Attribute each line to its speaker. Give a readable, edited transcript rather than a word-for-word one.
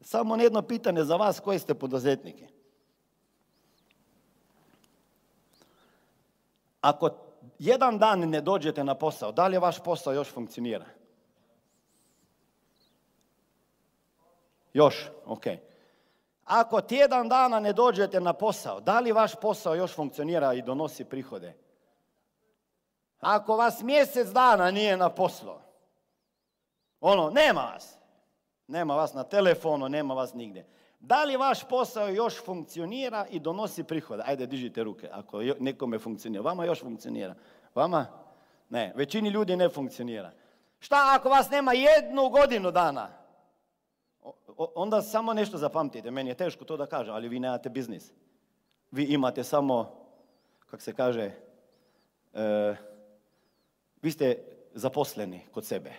Speaker 1: Samo jedno pitanje za vas koji ste poduzetniki. Ako jedan dan ne dođete na posao, da li vaš posao još funkcionira? Još, ok. Ako tjedan dana ne dođete na posao, da li vaš posao još funkcionira i donosi prihode? Ako vas mjesec dana nije na poslu, nema vas. Nema vas na telefonu, nema vas nigdje. Da li vaš posao još funkcionira i donosi prihode? Ajde, dižite ruke, ako nekome funkcionira. Vama još funkcionira. Vama? Ne, većini ljudi ne funkcionira. Šta ako vas nema 1 godinu dana? Onda samo nešto zapamtite. Meni je teško to da kažem, ali vi nemate biznis. Vi imate samo, kako se kaže, vi ste zaposleni kod sebe.